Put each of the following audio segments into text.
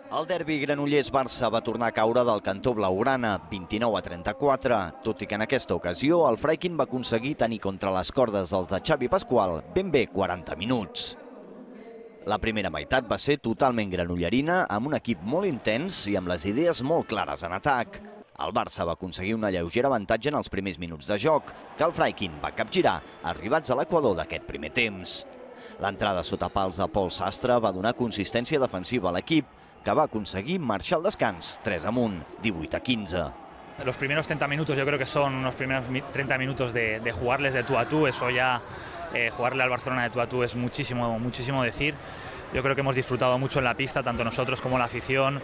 El derbi Granollers-Barça va tornar a caure del cantó blaugrana, 29-34, tot i que en aquesta ocasió el Freikin va aconseguir tenir contra les cordes dels de Xavi Pasqual ben bé 40 minuts. La primera meitat va ser totalment granollerina, amb un equip molt intens i amb les idees molt clares en atac. El Barça va aconseguir una lleugera avantatge en els primers minuts de joc, que el Freikin va capgirar, arribats a l'equador d'aquest primer temps. L'entrada sota pals de Pol Sastre va donar consistència defensiva a l'equip, que va aconseguir marxar al descans 3 amunt, 18-15. Los primeros 30 minutos yo creo que son unos primeros 30 minutos de jugarles de tú a tú. Eso ya, jugarle al Barcelona de tú a tú es muchísimo decir. Yo creo que hemos disfrutado mucho en la pista, tanto nosotros como la afición.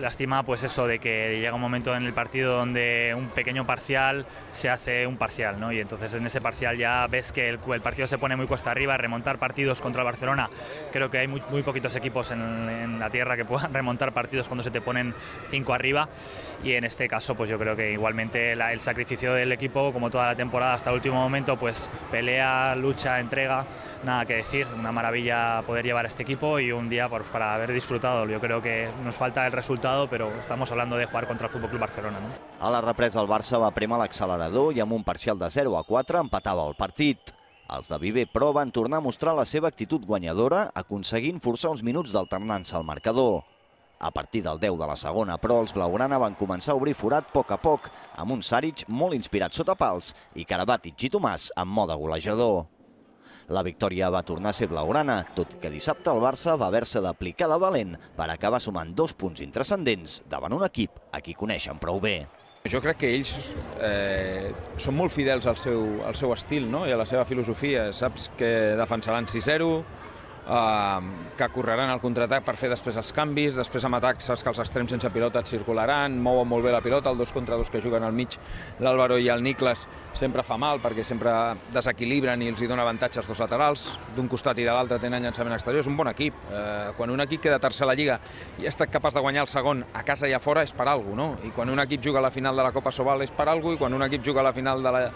Lástima pues eso de que llega un momento en el partido donde un pequeño parcial se hace un parcial, ¿no? Y entonces en ese parcial ya ves que el partido se pone muy cuesta arriba. Remontar partidos contra el Barcelona, creo que hay muy poquitos equipos en la tierra que puedan remontar partidos cuando se te ponen 5 arriba, y en este caso pues yo creo que igualmente el sacrificio del equipo, como toda la temporada hasta el último momento, pues pelea, lucha, entrega, nada que decir. Una maravilla poder llevar a este equipo y un día para haber disfrutado. Yo creo que nos falta el resultado, pero estamos hablando de jugar contra el FC Barcelona, ¿no? A la represa el Barça va prémer l'accelerador i amb un parcial de 0-4 empatava el partit. Els de Viver, però, van tornar a mostrar la seva actitud guanyadora, aconseguint forçar uns minuts d'alternança al marcador. A partir del 10 de la segona, però, els blaugrana van començar a obrir forat a poc, amb un Saric molt inspirat sota pals i Karabatic i Tomàs en mode golejador. La victòria va tornar a ser blaugrana, tot i que dissabte el Barça va haver-se d'aplicar de valent per acabar sumant 2 punts intranscendents davant un equip a qui coneixen prou bé. Jo crec que ells són molt fidels al seu estil, no? I a la seva filosofia. Saps que defensaran 6-0, que correran al contraatac per fer després els canvis, després amb atac saps que els extrems sense pilota et circularan, mouen molt bé la pilota, el 2 contra 2 que juguen al mig, l'Álvaro i el Niklas sempre fa mal perquè sempre desequilibren i els dona avantatge als 2 laterals, d'un costat i de l'altre tenen llançament exterior. És un bon equip. Quan un equip queda tercer a la Lliga i ha estat capaç de guanyar el segon a casa i a fora és per alguna cosa, no? I quan un equip juga a la final de la Copa Sobal és per alguna cosa, i quan un equip juga a la final de la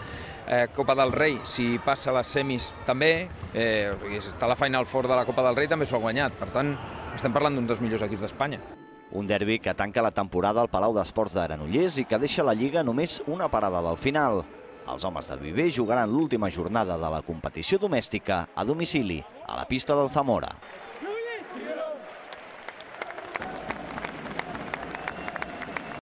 Copa del Rei, si passa a les semis també, està a la Final Four de la Copa del Rei també s'ho ha guanyat. Per tant, estem parlant d'un dels millors equips d'Espanya. Un derbi que tanca la temporada al Palau d'Esports de Granollers i que deixa la Lliga només una parada del final. Els homes del Viver jugaran l'última jornada de la competició domèstica a domicili, a la pista del Zamora.